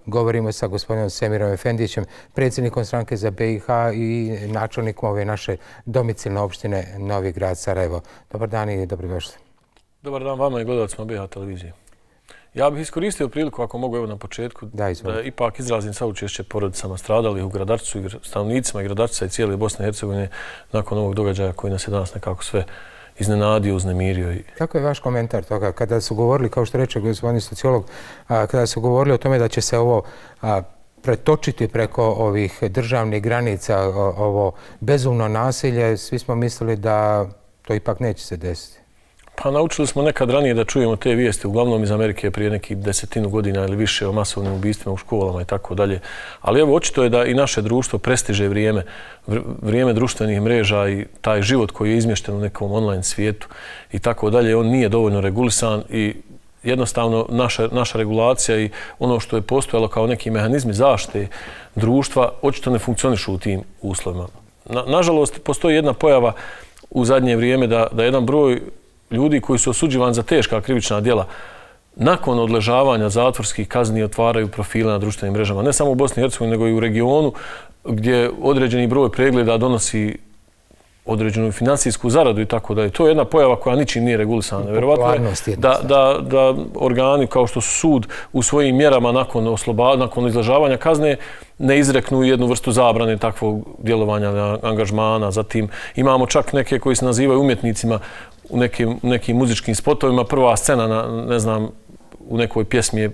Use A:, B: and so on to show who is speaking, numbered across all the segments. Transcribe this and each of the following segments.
A: Govorimo sa gospodinom Semirom Efendićem, predsjednikom stranke za BiH i načelnikom ove naše domicilne opštine Novi Grad Sarajevo. Dobar dan i dobrodošli.
B: Dobar dan vama i gledalcima BiH televizije. Ja bih iskoristio priliku, ako mogu evo na početku, da ipak izrazim saučešće porodicama stradalih u Gradarcu, stanovnicima Gradarca i cijele Bosne i Hercegovine nakon ovog događaja koji nas je danas nekako sve iznenadio, uznemirio.
A: Kako je vaš komentar toga? Kada su govorili, kao što reče gospodin sociolog, kada su govorili o tome da će se ovo pretočiti preko ovih državnih granica, ovo bezumno nasilje, svi smo mislili da to ipak neće se desiti.
B: Pa naučili smo nekad ranije da čujemo te vijesti, uglavnom iz Amerike prije nekih 10 godina ili više o masovnim ubistvima u školama i tako dalje. Ali evo, očito je da i naše društvo prestiže vrijeme društvenih mreža i taj život koji je izmješten u nekom online svijetu i tako dalje. On nije dovoljno regulisan i jednostavno naša regulacija i ono što je postojalo kao neki mehanizmi zaštite društva očito ne funkcionišu u tim uslovima. Nažalost, postoji jedna pojava u zadnje vrijeme da jedan broj ljudi koji su osuđivani za teška krivična djela nakon odležavanja zatvorskih kazni otvaraju profile na društvenim mrežama. Ne samo u Bosni i Hercegovini, nego i u regionu gdje određeni broj pregleda donosi određenu finansijsku zaradu i tako dalje. To je jedna pojava koja ničim nije regulisana. Vjerovatno je da organi kao što su sud u svojim mjerama nakon izležavanja kazne ne izreknu jednu vrstu zabrane takvog djelovanja, angažmana. Zatim imamo čak neke koji se nazivaju umjetnicima u nekim muzičkim spotovima. Prva scena, ne znam, u nekoj pjesmi je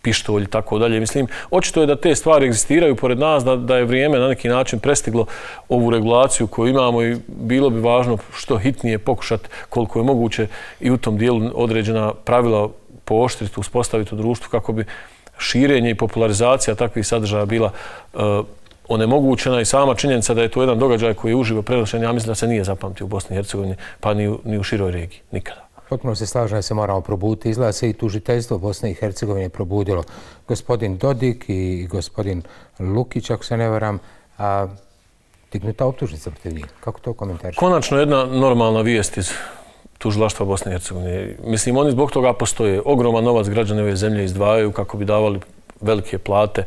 B: pištolj i tako dalje. Mislim, očito je da te stvari egzistiraju pored nas, da je vrijeme na neki način prestiglo ovu regulaciju koju imamo i bilo bi važno što hitnije pokušati koliko je moguće i u tom dijelu određena pravila pooštriti, uspostaviti u društvu kako bi širenje i popularizacija takvih sadržaja bila onemogućena i sama činjenica da je to jedan događaj koji je uživo prenošen, ja mislim da se nije zapamtio u Bosni i Hercegovini, pa ni u široj regiji, nikada.
A: Potpuno se slažem da se moramo probuditi. Izgleda se i tužiteljstvo Bosne i Hercegovine probudilo. Gospodin Dodik i gospodin Lukić, ako se ne varam, dignuta optužnica protiv njih. Kako to komentariš?
B: Konačno jedna normalna vijest iz tužilaštva Bosne i Hercegovine. Mislim, oni zbog toga postoje. Ogroman novac građane ove zemlje izdvajaju kako bi davali velike plate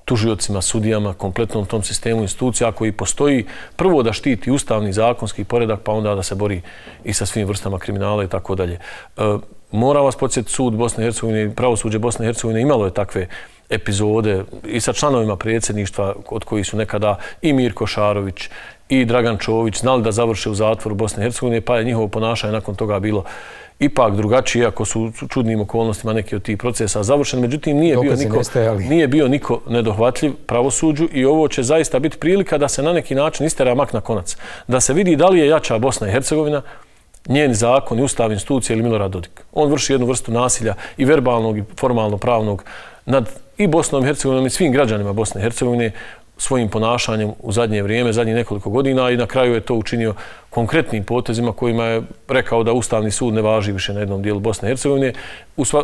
B: tužiocima, sudijama, kompletnom tom sistemu institucija koji postoji prvo da štiti ustavni zakonski poredak, pa onda da se bori i sa svim vrstama kriminala i tako dalje. Moram vas podsjetiti, sud Bosne i Hercegovine, pravosuđe Bosne i Hercegovine imalo je takve epizode i sa članovima predsjedništva od kojih su nekada i Mirko Šarović i Dragan Čović znali da završe u zatvoru Bosne i Hercegovine, pa je njihovo ponašanje nakon toga bilo ipak drugačije, ako su u čudnim okolnostima neki od tih procesa završeni. Međutim, nije bio niko nedohvatljiv pravosuđu i ovo će zaista biti prilika da se na neki način istera mak na konac. Da se vidi da li je jača Bosna i Hercegovina, njeni zakon i ustavne institucije ili Milorad Dodik. On vrši jednu vrstu nasilja i verbalnog i formalno-pravnog nad i Bosnom i Hercegovinom i svim građanima Bosne i Hercegovine svojim ponašanjem u zadnje vrijeme, zadnjih nekoliko godina i na kraju je to učinio konkretnim potezima kojima je rekao da Ustavni sud ne važi više na jednom dijelu Bosne i Hercegovine.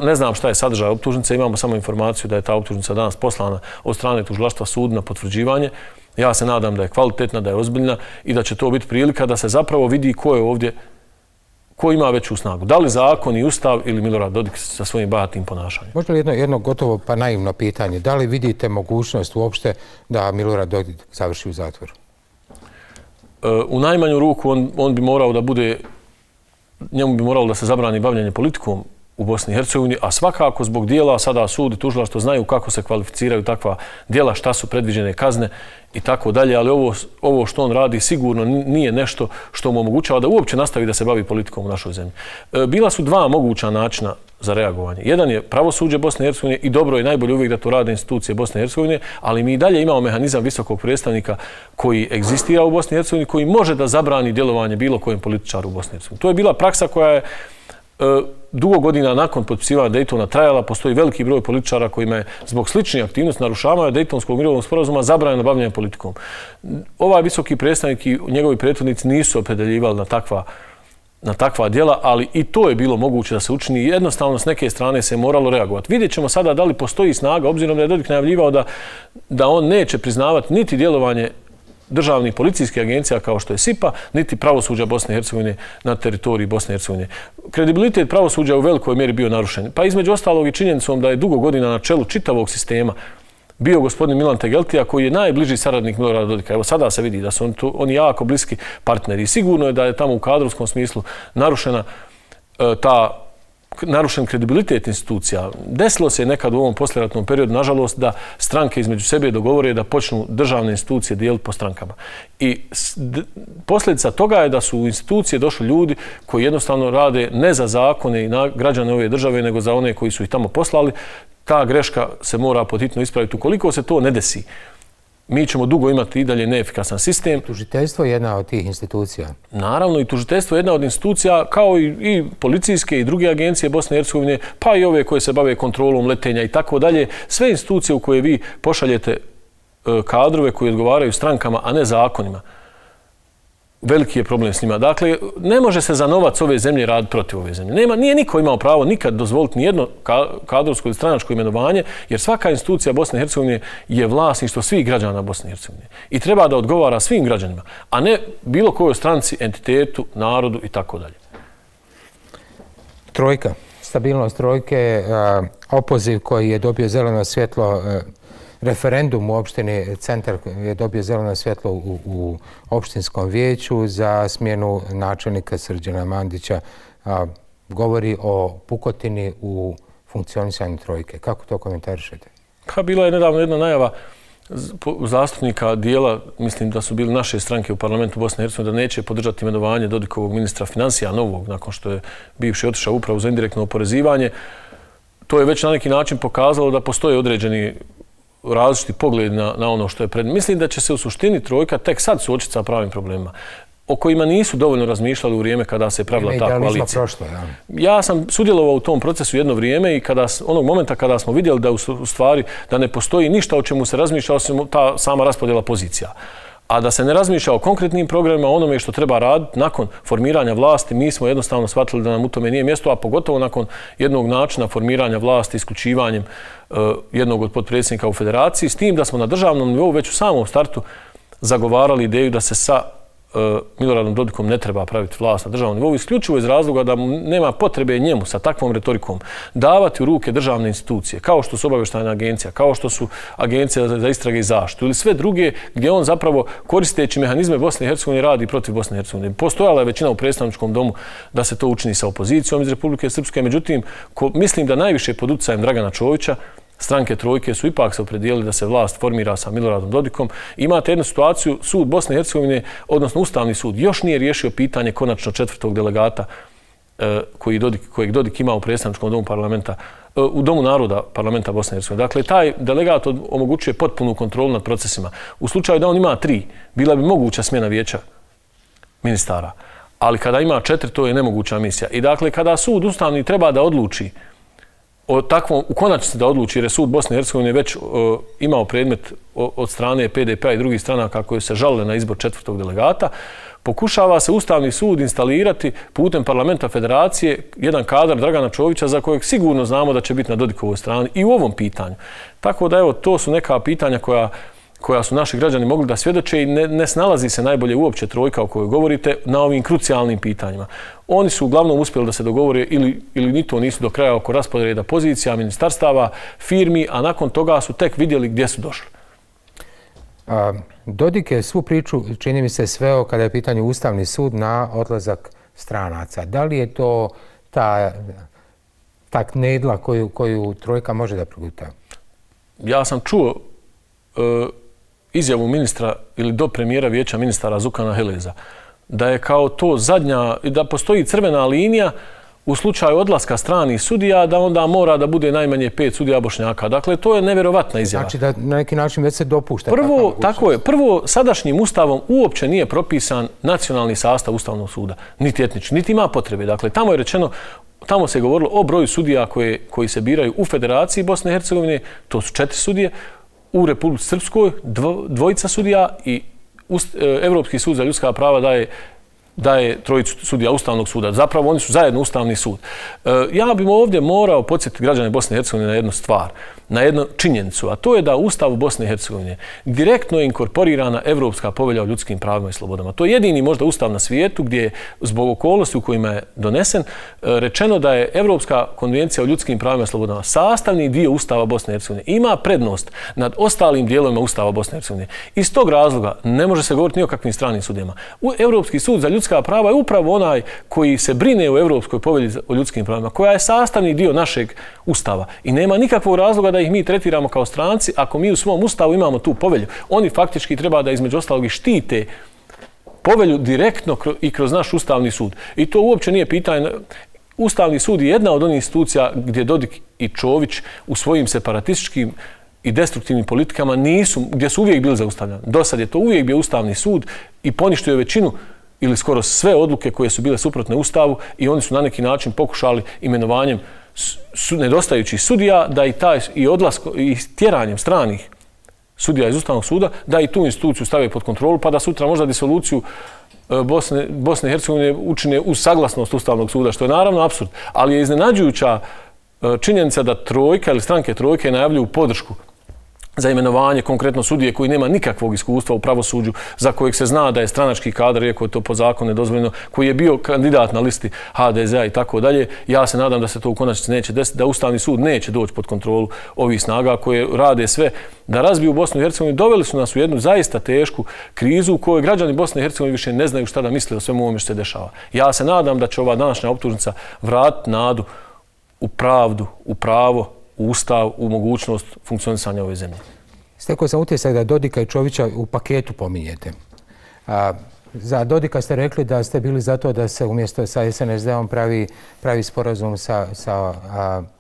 B: Ne znam šta je sadržaj optužnice, imamo samo informaciju da je ta optužnica danas poslana od strane tužilaštva sudu na potvrđivanje. Ja se nadam da je kvalitetna, da je ozbiljna i da će to biti prilika da se zapravo vidi ko je ovdje, ko ima veću snagu. Da li zakon i ustav ili Milorad Dodik sa svojim bahatim ponašanjem?
A: Možda li jedno gotovo pa naivno pitanje? Da li vidite mogućnost uopšte da Milorad Dodik završi u zatvoru?
B: U najmanju ruku on bi morao da bude, njemu bi moralo da se zabrani bavljanje politikom u Bosni i Hercegovini, a svakako zbog dijela sada sud i tužilaštvo znaju kako se kvalificiraju takva dijela, šta su predviđene kazne i tako dalje, ali ovo što on radi sigurno nije nešto što mu omogućava da uopće nastavi da se bavi politikom u našoj zemlji. Bila su dva moguća načina za reagovanje. Jedan je pravosuđe Bosne i Hercegovine i dobro je najbolje uvijek da to rade institucije Bosne i Hercegovine, ali mi i dalje imamo mehanizam visokog predstavnika koji egzistira u Bosni i Hercegovini, koji može da zabrani djelovanje bilo kojem političaru u Bosni i Hercegovini. To je bila praksa koja je dugo godina nakon potpisivanja Dejtona trajala. Postoji veliki broj političara kojima je zbog sličnih aktivnosti narušavanja Dejtonskog mirovnog sporazuma zabranjeno bavljenje politikom. Ovaj visoki predstavnik i njegovi prethodnici nisu opredeljivali na takva djela, ali i to je bilo moguće da se učini i jednostavno s neke strane se moralo reagovati. Vidjet ćemo sada da li postoji snaga, obzirom da je Dodik najavljivao da on neće priznavati niti djelovanje državnih policijskih agencija kao što je SIPA, niti pravosuđa Bosne i Hercegovine na teritoriji Bosne i Hercegovine. Kredibilitet pravosuđa u velikoj mjeri bio narušen. Pa između ostalog i činjenicom da je dugo godina na čelu čitavog sistema bio gospodin Milan Tegeltija, koji je najbliži saradnik Milorada Dodika. Evo sada se vidi da su oni jako bliski partneri. I sigurno je da je tamo u kadrovskom smislu narušen kredibilitet institucija. Desilo se nekad u ovom poslijeratnom periodu, nažalost, da stranke između sebe dogovore da počnu državne institucije dijeliti po strankama. I posljedica toga je da su u institucije došli ljudi koji jednostavno rade ne za zakone i građane ove države, nego za one koji su ih tamo poslali. Ta greška se mora podhitno ispraviti. Ukoliko se to ne desi, mi ćemo dugo imati i dalje neefikasan sistem.
A: Tužiteljstvo je jedna od tih institucija.
B: Naravno, i tužiteljstvo je jedna od institucija, kao i policijske i druge agencije Bosne i Hercegovine, pa i ove koje se bave kontrolom letenja i tako dalje. Sve institucije u koje vi pošaljete kadrove koji odgovaraju strankama, a ne zakonima. Veliki je problem s njima. Dakle, ne može se za novac ove zemlje raditi protiv ove zemlje. Nije niko imao pravo nikad dozvoliti nijedno kadrovsko ili stranačko imenovanje, jer svaka institucija Bosne i Hercegovine je vlasništvo svih građana Bosne i Hercegovine. I treba da odgovara svim građanima, a ne bilo kojoj stranci, entitetu, narodu i tako dalje.
A: Trojka. Stabilnost trojke, opoziv koji je dobio zeleno svjetlo, referendum u opštini Centar je dobio zeleno svjetlo u opštinskom vijeću za smjenu načelnika Srđana Mandića. Govori o pukotini u funkcionisanju trojke. Kako to komentarišete?
B: Pa bila je nedavno jedna najava zastupnika dijela, mislim da su bili naše stranke u parlamentu Bosne i Hercegovine, da neće podržati imenovanje Dodikovog ministra financija novog, nakon što je bivši otišao upravo za indirektno oporezivanje. To je već na neki način pokazalo da postoje određeni različiti pogled na ono što je pred. Mislim da će se u suštini trojka tek sad suočiti sa pravim problemima o kojima nisu dovoljno razmišljali u vrijeme kada se pravila ta koalicija. Ja sam sudjelovao u tom procesu jedno vrijeme i onog momenta kada smo vidjeli da u stvari da ne postoji ništa o čemu se razmišlja osim ta sama raspodjela pozicija. A da se ne razmišlja o konkretnim programima, onome što treba raditi nakon formiranja vlasti, mi smo jednostavno shvatili da nam u tome nije mjesto, a pogotovo nakon jednog načina formiranja vlasti isključivanjem jednog od potpredsjednika u federaciji, s tim da smo na državnom nivou već u samom startu zagovarali ideju da se sa Miloradom Dodikom ne treba praviti vlast na državnom nivou, isključivo iz razloga da nema potrebe njemu sa takvom retorikom davati u ruke državne institucije, kao što su obavještajna agencija, kao što su agencija za istrage i zaštitu ili sve druge gdje on zapravo koristeći mehanizme Bosne i Hercegovine radi protiv Bosne i Hercegovine. Postojala je većina u predstavničkom domu da se to učini sa opozicijom iz Republike Srpske, međutim, mislim da najviše pod utjecajem Dragana Čovića stranke trojke su ipak se opredijelili da se vlast formira sa Miloradom Dodikom. Imate jednu situaciju, sud Bosne i Hercegovine, odnosno Ustavni sud, još nije riješio pitanje konačno 4. delegata kojeg Dodik ima u predstavničkom domu parlamenta, u Domu naroda parlamenta Bosne i Hercegovine. Dakle, taj delegat omogućuje potpunu kontrolu nad procesima. U slučaju da on ima 3, bila bi moguća smjena vijeća ministara. Ali kada ima 4, to je nemoguća misija. I dakle, kada sud Ustavni treba da odluči u konačnici da odluči, jer je sud Bosne i Hercegovine već imao predmet od strane PDP-a i drugih stranaka koje se žalile na izbor 4. delegata, pokušava se Ustavni sud instalirati putem parlamenta federacije jedan kadar Dragana Čovića za kojeg sigurno znamo da će biti na Dodikovoj strani i u ovom pitanju. Tako da evo, to su neka pitanja koja su naši građani mogli da svjedoče i ne snalazi se najbolje uopće trojka o kojoj govorite na ovim krucijalnim pitanjima. Oni su uglavnom uspjeli da se dogovore ili ni to nisu do kraja oko rasporeda pozicija, ministarstava, firmi, a nakon toga su tek vidjeli gdje su došli.
A: Dodik je svu priču, čini mi se, sveo kada je pitanje Ustavni sud na odlazak stranaca. Da li je to ta knedla koju trojka može da proguta?
B: Ja sam čuo izjavu ministra ili do premijera vijeća ministara Zukana Heleza, da je kao to zadnja, da postoji crvena linija u slučaju odlaska stranih sudija, da onda mora da bude najmanje 5 sudija Bošnjaka. Dakle, to je nevjerovatna izjava.
A: Znači da na neki način već se dopušta.
B: Tako je. Prvo, sadašnjim ustavom uopće nije propisan nacionalni sastav Ustavnog suda, niti etnični, niti ima potrebe. Dakle, tamo je rečeno, tamo se govorilo o broju sudija koji se biraju u Federaciji Bosne i Hercegovine, to su 4 sudije, u Republici Srpskoj 2 sudija i Evropski sud za ljudska prava daje daje trojicu sudija Ustavnog suda. Zapravo oni su zajedno Ustavni sud. Ja bih ovdje morao podsjetiti građane Bosne i Hercegovine na jednu stvar, na jednu činjenicu, a to je da u Ustavu Bosne i Hercegovine direktno je inkorporirana Evropska povelja o ljudskim pravima i slobodama. To je jedini možda Ustav na svijetu gdje je zbog okolnosti u kojima je donesen rečeno da je Evropska konvencija o ljudskim pravima i slobodama sastavni dio Ustava Bosne i Hercegovine. Ima prednost nad ostalim dijelovima Ustava Bosne i Hercegovine. Iz tog razloga ne može se govoriti ni o kakvim stranim sudijama. Evropski sud za ljudska prava je upravo onaj koji se brine o Evropskoj povelji o ljudskim pravima, koja je sastavni dio našeg Ustava. I nema nikakvog razloga da ih mi tretiramo kao stranci ako mi u svom Ustavu imamo tu povelju. Oni faktički treba da između ostalog i štite povelju direktno i kroz naš Ustavni sud. I to uopće nije pitanje. Ustavni sud je jedna od onih institucija gdje Dodik i Čović u svojim separatističkim i destruktivnim politikama gdje su uvijek bili zaustavljani. Do sad je to uvijek bio Ustavni sud i poništio je većinu ili skoro sve odluke koje su bile suprotne Ustavu i oni su na neki način pokušali imenovanjem nedostajućih sudija da i tjeranjem stranih sudija iz Ustavnog suda da i tu instituciju stave pod kontrolu pa da sutra možda disoluciju Bosne i Hercegovine učine uz saglasnost Ustavnog suda, što je naravno apsurd. Ali je iznenađujuća činjenica da trojka ili stranke trojke najavljuju podršku za imenovanje konkretno sudije koji nema nikakvog iskustva u pravosuđu, za kojeg se zna da je stranački kadar, iako je to po zakonu nedozvoljeno, koji je bio kandidat na listi HDZ-a i tako dalje. Ja se nadam da se to u konačnici neće desiti, da Ustavni sud neće doći pod kontrolu ovih snaga koje rade sve da razbiju Bosnu i Hercegovinu. Doveli su nas u jednu zaista tešku krizu u kojoj građani Bosne i Hercegovine više ne znaju šta da misle o svemu ovome što se dešava. Ja se nadam da će ova današnja optužnica vratiti nadu u pravdu, u pravo, u Ustav, u mogućnost funkcionisanja ove zemlje.
A: Stekao sam utisak da Dodika i Čovića u paketu pominjete. Za Dodika ste rekli da ste bili za to da se umjesto sa SNSD-om pravi sporazum sa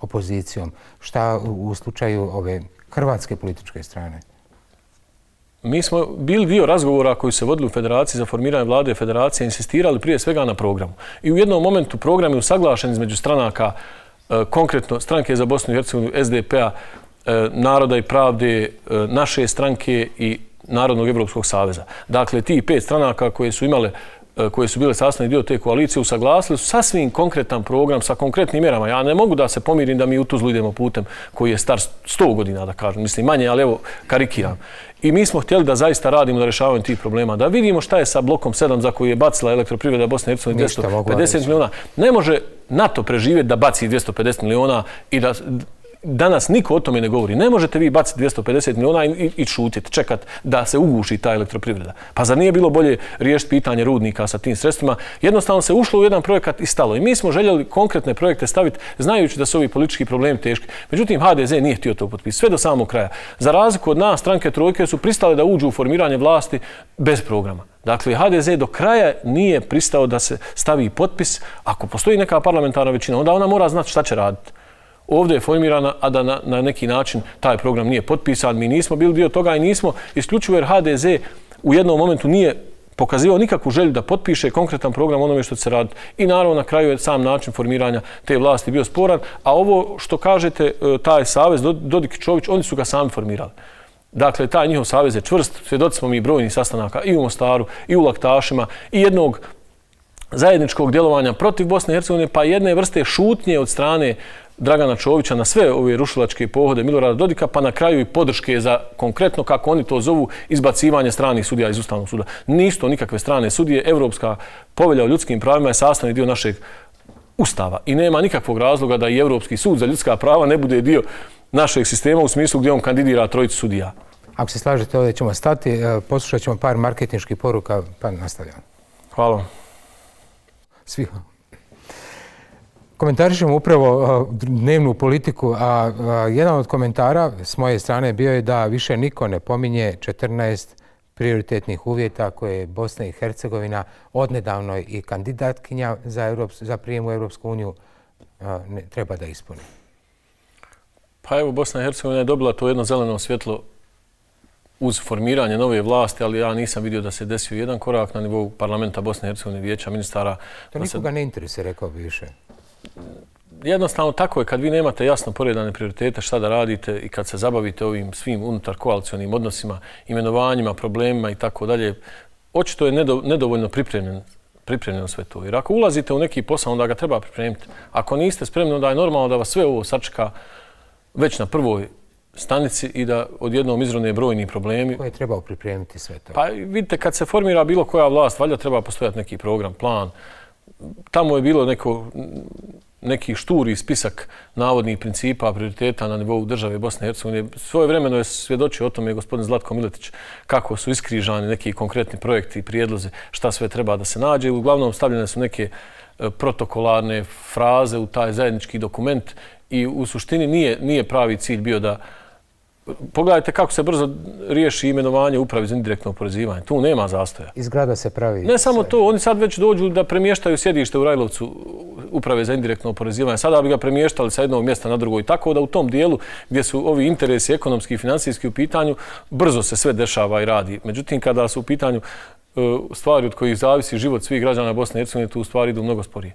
A: opozicijom. Šta u slučaju ove hrvatske političke strane?
B: Mi smo bili dio razgovora koji se vodili u Federaciji za formiranje vlade Federacije, insistirali prije svega na programu. I u jednom momentu program je usaglašen između stranaka, konkretno stranke za Bosnu i Hercegovinu, SDP-a, Naroda i pravde, naše stranke i Narodnog evropskog saveza. Dakle, ti 5 stranaka koje su bile sastavni dio te koalicije usaglasili su sasvim konkretan program sa konkretnim mjerama. Ja ne mogu da se pomirim da mi u Tuzlu idemo putem koji je star 100 godina, da kažem. Mislim, manje, ali evo, karikiram. I mi smo htjeli da zaista radimo na rješavanju tih problema. Da vidimo šta je sa blokom 7 za koji je bacila elektroprivreda Bosne i Hercegovine 250 miliona. Ne može NATO preživjeti da baci 250 miliona i da danas niko o tome ne govori. Ne možete vi baciti 250 miliona i šutiti, čekati da se uguši ta elektroprivreda. Pa zar nije bilo bolje riješiti pitanje rudnika sa tim sredstvima? Jednostavno se ušlo u jedan projekat i stalo. I mi smo željeli konkretne projekte staviti znajući da su ovi politički problemi teški. Međutim, HDZ nije htio to potpisati sve do samog kraja. Za razliku od nas, stranke trojke su pristale da uđu u formiranje vlasti bez programa. Dakle, HDZ do kraja nije pristao da se stavi potpis. Ako postoji neka parlamentarna većina, onda ona mora znati šta će raditi. Ovdje je formirana, a da na neki način taj program nije potpisan. Mi nismo bili dio toga i nismo isključivo jer HDZ u jednom momentu nije pokazivao nikakvu želju da potpiše konkretan program onome što će se raditi. I naravno na kraju je sam način formiranja te vlasti bio sporan. A ovo što kažete, taj savez Dodik i Čović, oni su ga sami formirali. Dakle, taj njihov savez je čvrst. Svjedoci smo mi brojnih sastanaka i u Mostaru, i u Laktašima, i jednog zajedničkog djelovanja protiv Bosne i Hercegovine, pa jedne vrste šutnje od strane Dragana Čovića na sve ove rušilačke pohode Milorada Dodika, pa na kraju i podrške za konkretno, kako oni to zovu, izbacivanje stranih sudija iz Ustavnog suda. Nisu to nikakve strane sudije. Evropska povelja o ljudskim pravima je sastavni dio našeg Ustava i nema nikakvog razloga da i Evropski sud za ljudska prava ne bude dio našeg sistema u smislu gdje on kandidira trojicu sudija.
A: Ako se slažete, ovdje ćemo stati. Poslušat ćemo par marketinških poruka, pa nastavljamo.
B: Hvala.
A: Svi. Komentarišemo upravo dnevnu politiku, a jedan od komentara s moje strane bio je da više niko ne pominje 14 prioritetnih uvjeta koje je Bosna i Hercegovina odnedavno i kandidatkinja za prijem u Evropsku uniju treba da ispuni.
B: Pa evo, Bosna i Hercegovina je dobila to jedno zeleno svjetlo uz formiranje nove vlasti, ali ja nisam vidio da se desio jedan korak na nivou parlamenta Bosne i Hercegovine, vijeća ministara.
A: To nikoga ne interesuje, rekao bi više.
B: Jednostavno tako je kad vi nemate jasno poredane prioritete šta da radite i kad se zabavite ovim svim unutar koalicionim odnosima, imenovanjima, problemima i tako dalje. Očito je nedovoljno pripremljen pripremljeno sve to. Jer ako ulazite u neki posao, onda ga treba pripremiti. Ako niste spremni, onda je normalno da vas sve ovo sačeka već na prvoj stanici i da odjednom izrone brojni problemi.
A: Koje je trebao pripremiti sve to?
B: Pa vidite, kad se formira bilo koja vlast, valjda treba postojati neki program, plan. Tamo je bilo neki šturi spisak navodnih principa, prioriteta na nivou države Bosne i Hercegovine. Svojevremeno je svjedočio o tome gospodin Zlatko Miletić kako su iskrižani neki konkretni projekti i prijedlozi šta sve treba da se nađe. Uglavnom stavljene su neke protokolarne fraze u taj zajednički dokument i u suštini nije pravi cilj bio da... Pogledajte kako se brzo riješi imenovanje uprave za indirektno oporezivanje. Tu nema zastoja.
A: Iz grada se pravi...
B: Ne samo to, oni sad već dođu da premještaju sjedište u Rajlovcu uprave za indirektno oporezivanje. Sada bi ga premještali sa jednog mjesta na drugo. I tako da u tom dijelu gdje su ovi interesi ekonomski i financijski u pitanju, brzo se sve dešava i radi. Međutim, kada su u pitanju stvari od kojih zavisi život svih građana Bosne i Hercegovine, tu stvari idu mnogo sporije.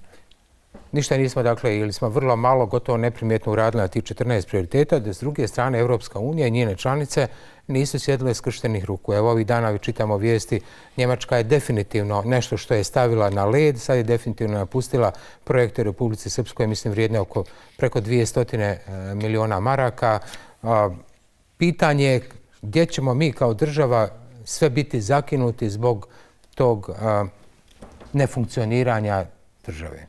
A: Ništa nismo, dakle, ili smo vrlo malo, gotovo neprimjetno uradili na tih 14 prioriteta, da s druge strane Evropska unija i njene članice nisu sjedile skrštenih ruku. Evo ovih dana čitamo vijesti, Njemačka je definitivno nešto što je stavila na led, sad je definitivno napustila projekte u Republici Srpskoj, mislim vrijedne oko preko 200 miliona maraka. Pitanje je gdje ćemo mi kao država sve biti zakinuti zbog tog nefunkcioniranja države.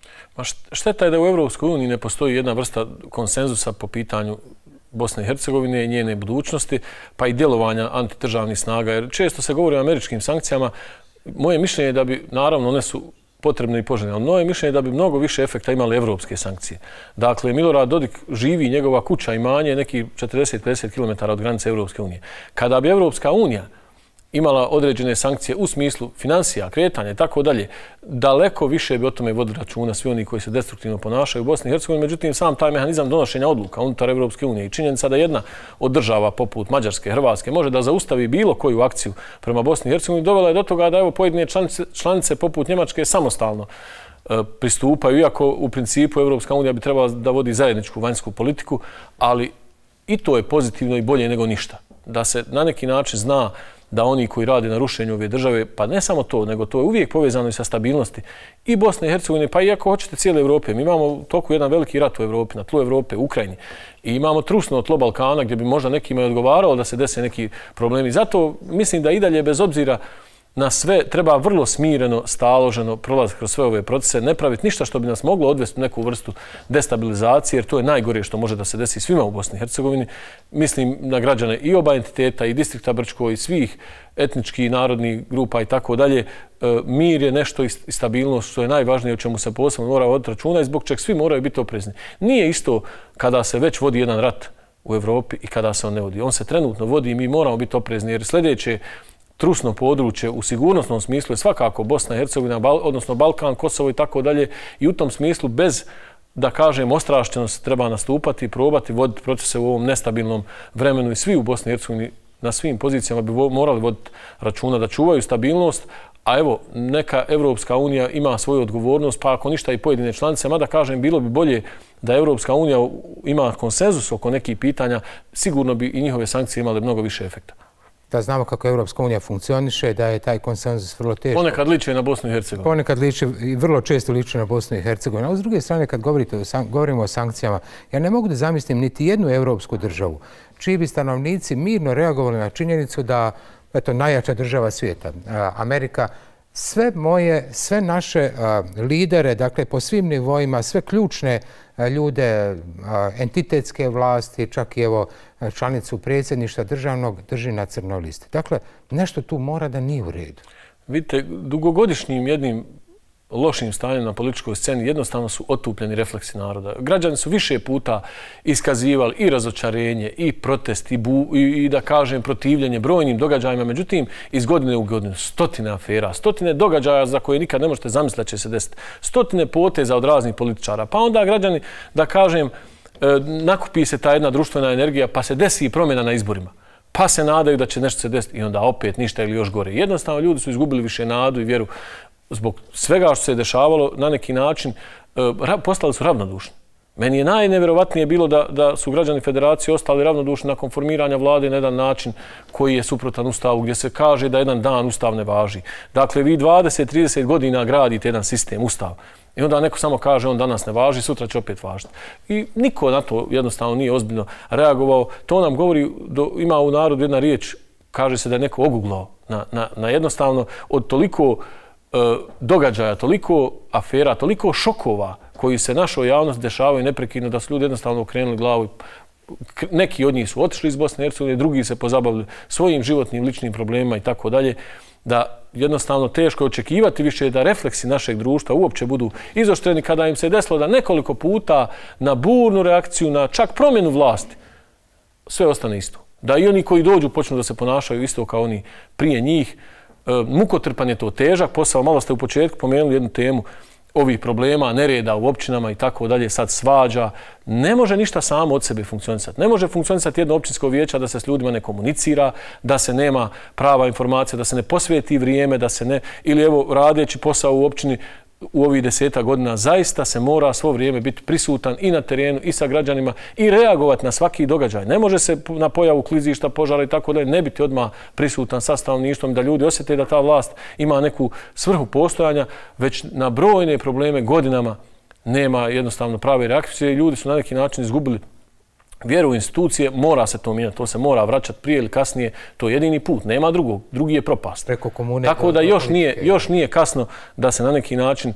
B: Šteta je da u Evropskoj uniji ne postoji jedna vrsta konsenzusa po pitanju Bosne i Hercegovine i njene budućnosti, pa i djelovanja antidržavnih snaga. Jer često se govori o američkim sankcijama. Moje mišljenje je da bi, naravno, one su potrebne i poželjne, ali moje mišljenje je da bi mnogo više efekta imale evropske sankcije. Dakle, Milorad Dodik živi, njegova kuća, imanje, neki 40-50 km od granice Evropske unije. Kada bi Evropska unija imala određene sankcije u smislu financija, kretanja i tako dalje, daleko više bi o tome vodili računa svi oni koji se destruktivno ponašaju u Bosni i Hercegovini. Međutim, sam taj mehanizam donošenja odluka unutar Evropske unije i činjenica da jedna od država poput Mađarske, Hrvatske može da zaustavi bilo koju akciju prema Bosni i Hercegovini dovela je do toga da evo pojedine članice poput Njemačke samostalno pristupaju, iako u principu Evropska unija bi trebala da vodi zajedničku vanjsku politiku, ali i to je pozitivno i bolje nego ništa. Da se na neki način zna da oni koji rade na rušenju ove države, pa ne samo to, nego to je uvijek povezano i sa stabilnosti i Bosne i Hercegovine, pa i ako hoćete cijele Evrope. Mi imamo u toku jedan veliki rat u Evropi, na tlu Evrope, u Ukrajini. I imamo trusno tlo Balkana gdje bi možda nekima odgovaralo da se dese neki problemi. Zato mislim da i dalje, bez obzira na sve, treba vrlo smireno, staloženo prolaziti kroz sve ove procese, ne praviti ništa što bi nas moglo odvesti u neku vrstu destabilizacije, jer to je najgore što može da se desi svima u Bosni i Hercegovini. Mislim na građane i oba entiteta, i distrikta Brčko, i svih etničkih i narodnih grupa i tako dalje. Mir je nešto i stabilnost što je najvažnije, o čemu se posebno mora voditi računa i zbog čeg svi moraju biti oprezni. Nije isto kada se već vodi jedan rat u Evropi i kada se on ne vodi. On se trenutno vodi i mi moramo biti oprezni, jer sljedeće trusno područje u sigurnosnom smislu je svakako Bosna i Hercegovina, odnosno Balkan, Kosovo i tako dalje. I u tom smislu bez, da kažem, ostrašćenosti treba nastupati i probati voditi procese u ovom nestabilnom vremenu i svi u Bosni i Hercegovini na svim pozicijama bi morali voditi računa da čuvaju stabilnost, a evo, neka Evropska unija ima svoju odgovornost, pa ako ništa i pojedine članice, mada kažem, bilo bi bolje da Evropska unija ima konsenzus oko nekih pitanja, sigurno bi i njihove sankcije imale mnogo više efekta.
A: Da znamo kako Evropska unija funkcioniše, da je taj konsenzus vrlo teško.
B: Ponekad liči na Bosnu i Hercegovinu.
A: Ponekad liči i vrlo često liči na Bosnu i Hercegovinu. A s druge strane, kad govorimo o sankcijama, ja ne mogu da zamislim niti jednu evropsku državu čiji bi stanovnici mirno reagovali na činjenicu da, eto, najjača država svijeta, Amerika, sve naše lidere, dakle, po svim nivoima, sve ključne ljude, entitetske vlasti, čak i evo članicu predsjedništva državnog drži na crnoj listi. Dakle, nešto tu mora da nije u redu.
B: Vidite, dugogodišnjim jednim lošim stanjem na političkoj sceni jednostavno su otupljeni refleksi naroda. Građani su više puta iskazivali i razočarenje, i protest, i da kažem protivljenje brojnim događajima. Međutim, iz godine u godinu stotine afera, stotine događaja za koje nikad ne možete zamisliti da će se desiti, stotine poteza od raznih političara. Pa onda građani, da kažem, nakupi se ta jedna društvena energija pa se desi i promjena na izborima. Pa se nadaju da će nešto se desiti i onda opet ništa ili još gore. Jednostavno ljudi su izgubili više nadu i vjeru zbog svega što se je dešavalo, na neki način postali su ravnodušni. Meni je najneverovatnije bilo da su građani federacije ostali ravnodušni nakon formiranja vlade na jedan način koji je suprotan Ustavu, gdje se kaže da jedan dan Ustav ne važi. Dakle, vi 20-30 godina gradite jedan sistem, Ustav. I onda neko samo kaže on danas ne važi, sutra će opet važiti. I niko na to jednostavno nije ozbiljno reagovao. To nam govori, ima u narodu jedna riječ, kaže se da je neko oguglao na jednostavno od toliko događaja, toliko afera, toliko šokova koji se našoj javnosti dešavaju neprekidno, da su ljudi jednostavno okrenuli glavu. Neki od njih su otišli iz Bosne i Hercegovine, drugi se pozabavili svojim životnim, ličnim problemima i tako dalje, da jednostavno teško je očekivati više da refleksi našeg društva uopće budu izoštreni kada im se desilo da nekoliko puta na burnu reakciju, na čak promjenu vlasti, sve ostane isto. Da i oni koji dođu počnu da se ponašaju isto kao oni prije njih. Mukotrpan je to, težak posao. Malo ste u početku pomenuli jednu temu ovih problema, nereda u općinama i tako dalje, sad svađa. Ne može ništa samo od sebe funkcionisati. Ne može funkcionisati jedno općinsko vijeće da se s ljudima ne komunicira, da se nema prava informacija, da se ne posvijeti vrijeme, da se ne, ili evo radeći posao u općini u ovih 10 godina, zaista se mora svo vrijeme biti prisutan i na terenu i sa građanima i reagovati na svaki događaj. Ne može se na pojavu klizišta, požara i tako dalje ne biti odmah prisutan sa stanovništvom, da ljudi osjete da ta vlast ima neku svrhu postojanja, već na brojne probleme godinama nema jednostavno prave reakcije i ljudi su na neki način izgubili vjeru u institucije. Mora se to mijenjati, to se mora vraćati prije ili kasnije, to je jedini put, nema drugog, drugi je propast.
A: Preko komune.
B: Tako da još nije kasno da se na neki način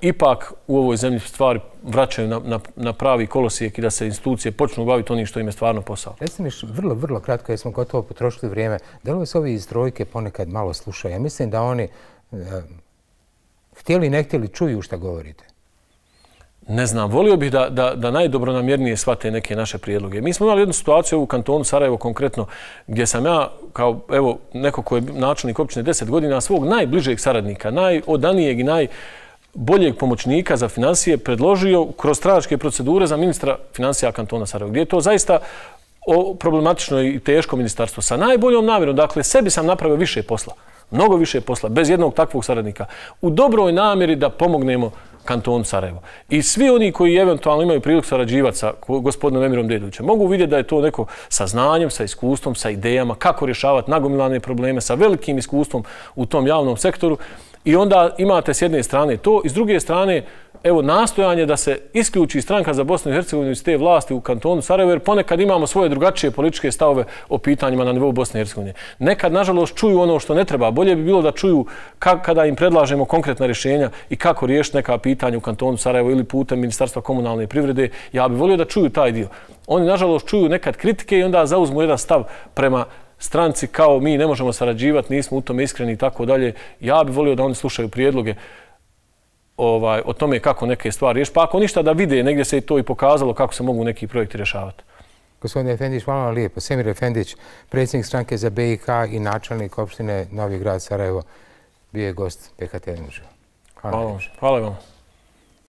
B: ipak u ovoj zemlji stvari vraćaju na pravi kolosijek i da se institucije počnu baviti onim što im je stvarno posao.
A: Recite mi vrlo kratko, jer smo gotovo potrošili vrijeme, da li se ovi iz trojke ponekad malo slušaju? Ja mislim da oni htjeli ne htjeli čuju šta govorite.
B: Ne znam, volio bih da najdobronamjernije shvate neke naše prijedloge. Mi smo imali jednu situaciju u kantonu Sarajevo konkretno, gdje sam ja, kao evo neko ko je načelnik općine 10 godina, svog najbližeg saradnika, najodanijeg i najboljeg pomoćnika za financije predložio kroz stranačke procedure za ministra financija kantona Sarajevo, gdje je to zaista problematično i teško ministarstvo. Sa najboljom namjerom, dakle, sebi sam napravio više posla, mnogo više posla, bez jednog takvog saradnika, u dobroj namjeri da pomognemo kantonu Sarajevo. I svi oni koji eventualno imaju priliku sarađivati sa gospodinom Emirom Dedovićem mogu vidjeti da je to neko sa znanjem, sa iskustvom, sa idejama, kako rješavati nagomilane probleme, sa velikim iskustvom u tom javnom sektoru. I onda imate s jedne strane to i s druge strane evo nastojanje da se isključi stranka za Bosnu i Hercegovinu iz te vlasti u kantonu Sarajevo, jer ponekad imamo svoje drugačije političke stavove o pitanjima na nivou Bosne i Hercegovine. Nekad, nažalost, čuju ono što ne treba. Bolje bi bilo da čuju kada im predlažemo konkretna rješenja i kako riješiti neka pitanja u kantonu Sarajevo ili putem Ministarstva komunalne privrede. Ja bih volio da čuju taj dio. Oni, nažalost, čuju nekad kritike i onda zauzmu jedan stav prema stranci kao mi ne možemo sarađivati, nismo u tome iskreni i tako dalje. Ja bih volio da oni slušaju prijedloge o tome kako neke stvari riješiti. Pa ako ništa da vide, negdje se i to i pokazalo kako se mogu neki projekti rješavati.
A: Gospodin Efendić, hvala vam lijepo. Semir Efendić, predsjednik stranke za BiH i načelnik opštine Novi Grad Sarajevo, bio je gost PK Televizion.
B: Hvala vam.